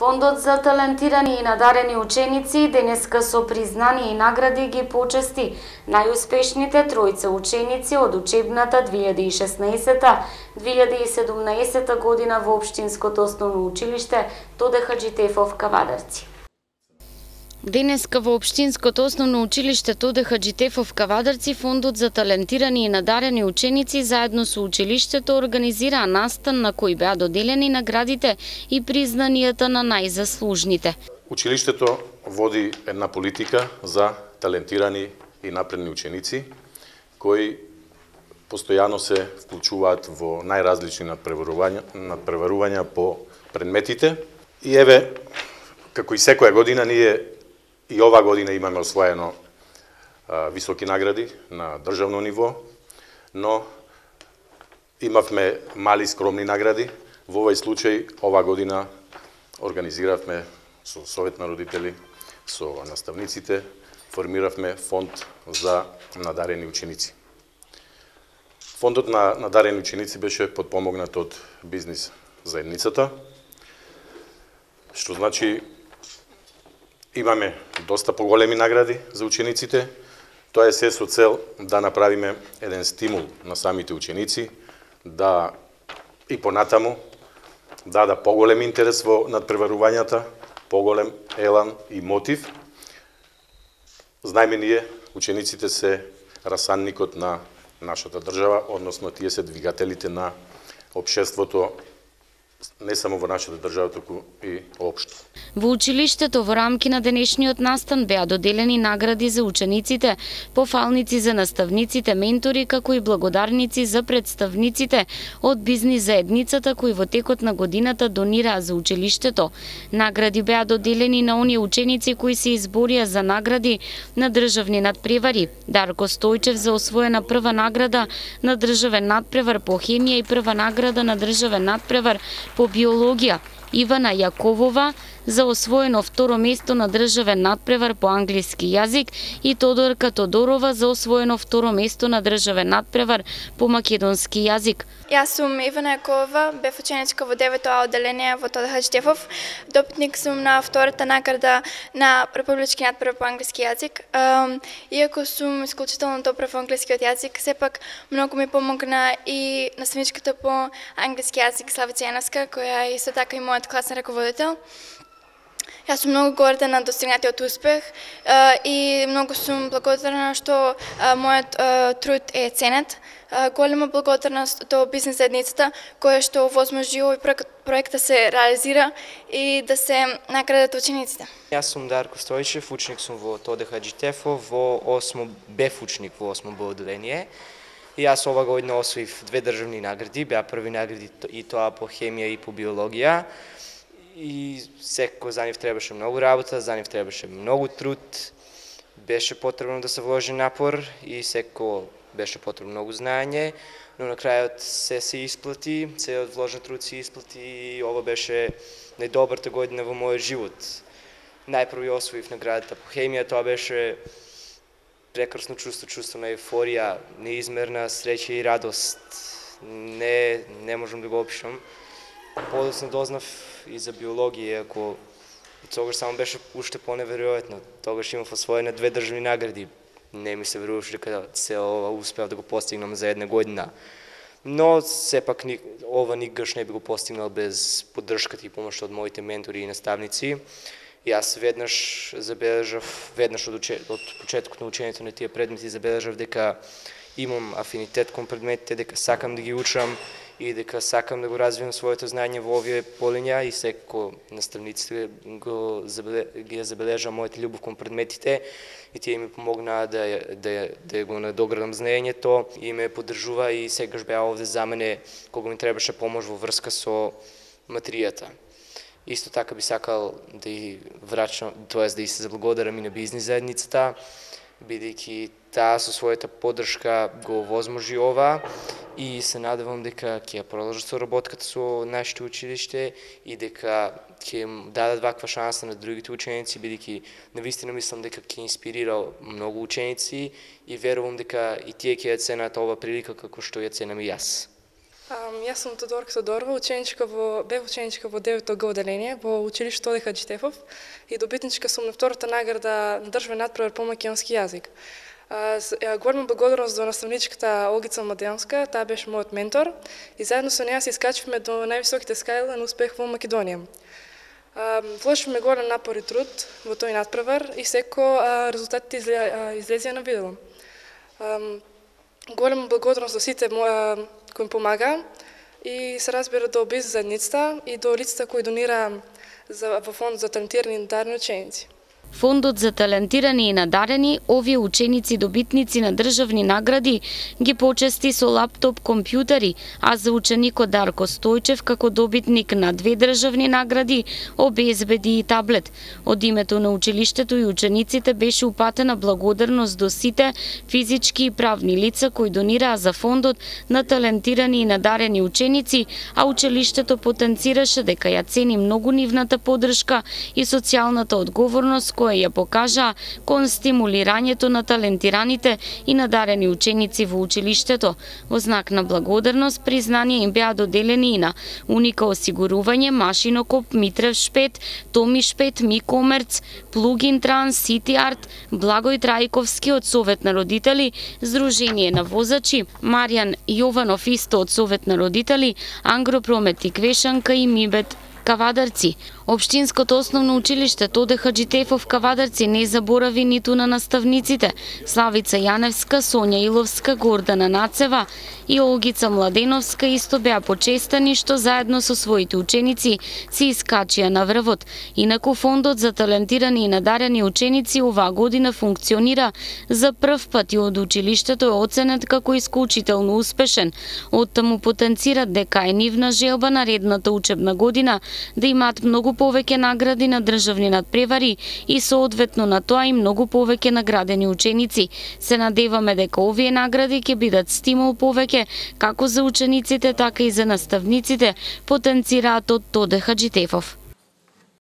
Фондот за талентирани и надарени ученици денеска со признание и награди ги почести најуспешните тројца ученици од учебната 2016-2017 година во Општинското основно училиште Тоде Хаџитефов Кавадарци. Денеска во Општинското основно училиште Тоде Хаџитефов Кавадарци Фондот за талентирани и надарени ученици заедно со училиштето организираа настан на кој беа доделени наградите и признанијата на најзаслужните. Училиштето води една политика за талентирани и напредни ученици кои постојано се вклучуваат во најразлични надпреварувања по предметите. И еве, како и секоја година, ние и ова година имаме освоено високи награди на државно ниво, но имавме мали скромни награди. Во овој случај, ова година организиравме со Совет на родители, со наставниците, формиравме фонд за надарени ученици. Фондот на надарени ученици беше подпомогнат од бизнис заедницата, што значи имаме доста поголеми награди за учениците. Тоа е се со цел да направиме еден стимул на самите ученици, да и понатаму да поголем интерес во надпреварувањата, поголем елан и мотив. Знаеме ние, учениците се расанникот на нашата држава, односно тие се двигателите на општеството, не само во нашата држава, туку и општо. Во училиштето во рамки на денешниот настан беа доделени награди за учениците, пофалници за наставниците, ментори, како и благодарници за представниците од бизнис заедницата кои во текот на годината донираа за училиштето. Награди беа доделени на оние ученици кои се изборија за награди на државни надпревари. Дарко Стојчев за освоена прва награда на државен надпревар по хемија и прва награда на државен надпревар по биологија, Ивана Јаковова за освоено второ место на државен надпревар по англиски јазик и Тодорка Тодорова за освоено второ место на државен надпревар по македонски јазик. Јас сум Ивана Јаковова, бев ученичка во 9-то одделение во Тоде Хаџитефов. Допитник сум на втората награда на републички надпревар по англиски јазик. Иако сум исклучително добра во англискиот јазик, сепак многу ми помогна и наставничката по англиски јазик Славица Јановска, која е исто така и мојот класен раководител. Јас сум многу горда на достигнатиот успех и многу сум благодарна што мојот труд е ценет. Голема благодарност до бизнис заедницата која што овозможи овој проект да се реализира и да се наградат учениците. Јас сум Дарко Стојчев, ученик сум во Тоде Хаџитефов, бев ученик во 8 Б одделение. И јас ова година освоив 2 државни награди, беа први награди и тоа по хемија и по биологија. И секој за нив требаше многу работа, за нив требаше многу труд, беше потребно да се вложи напор и секој беше потребно многу знаење, но на крајот се исплати, целиот вложен труд се исплати и ова беше најдобрата година во мојот живот. Најпрво освоив наградата по хемија, тоа беше прекрасно чувство на еуфорија, неизмерна среќа и радост. Не можам да го опишам. Подоцна дознав и за биологија, ако тогаш само беше уште поневеројатно. Тогаш имав освоена 2 државни награди. Не ми се веруваше дека се ова успеав да го постигнам за една година. Но сепак ова никогаш не би го постигнал без поддршката и помошта од моите ментори и наставници. Јас веднаш од почетокот на учењето на тие предмети забележав дека имам афинитет кон предметите, дека сакам да ги учам и дека сакам да го развивам своето знаење во овие полиња и секој наставниците ги забележа мојата љубов кон предметите и тие ми помогнаа да го надоградам знаењето и ме поддржува и секогаш беа овде за мене кога ми требаше помош во врска со материјата. Исто така би сакал да и врачам, тоест да и се заблагодарам и на бизнис заедницата, бидејќи таа со својата поддршка го овозможи ова и се надевам дека ќе продолжат соработката со нашите училиште и дека ќе им дадат ваква шанса на другите ученици, бидејќи навистина мислам дека ќе инспирира многу ученици и верувам дека и тие ќе ја ценат ова прилика како што ја ценам и јас. Јас сум Тодорка Тодорова, бев ученичка во 9-то Г одделение во училиште Тоде Хаџитефов и добитничка сум на втората награда на државен надпревар по македонски јазик. Голема благодарност до наставничката Олгица Младенска, таа беше мојот ментор и заедно со неја се искачивме до највисоките скали на успех во Македонија. Вложивме голем напор и труд во тој надпревар и секако резултатите излезеа на видело. Голема благодарност до сите кои им помага и се разбира до бизнес заедницата и до лицата кои донира во фонд за талентирани и надарени ученици. Фондот за талентирани и надарени, овие ученици добитници на државни награди ги почести со лаптоп компјутери, а за ученикот Дарко Стојчев како добитник на 2 државни награди обезбеди и таблет. Од името на училиштето и учениците беше упатена благодарност до сите физички и правни лица кои донираа за фондот на талентирани и надарени ученици, а училиштето потенцираше дека ја цени многу нивната поддршка и социјалната одговорност која ја покажаа кон стимулирањето на талентираните и надарени ученици во училиштето. Во знак на благодарност, признание им беа доделени и на Уника осигурување, Машинокоп, Митрев Шпет, Томи Шпет, Микомерц, Плугин Транс, Сити Арт, Благој Трајковски од Совет на родители, Здружение на возачи, Маријан Јованов исто од Совет на родители, Ангропромет и Квешанка и Мибет Кавадарци. Општинското основно училиште Тоде Хаџитефов Кавадарци не заборави ниту на наставниците Славица Јаневска, Сонја Иловска, Гордана Нацева и Олгица Младеновска исто беа почестани што заедно со своите ученици се искачија на врвот. Инаку фондот за талентирани и надарени ученици оваа година функционира за прв пат и од училиштето е оценет како исклучително успешен. Оттаму потенцират дека е нивна желба наредната учебна година да имаат многу повеќе награди на државни надпревари и соодветно на тоа и многу повеќе наградени ученици. Се надеваме дека овие награди ќе бидат стимул повеќе како за учениците, така и за наставниците, потенцираат од Тоде Хаџитефов.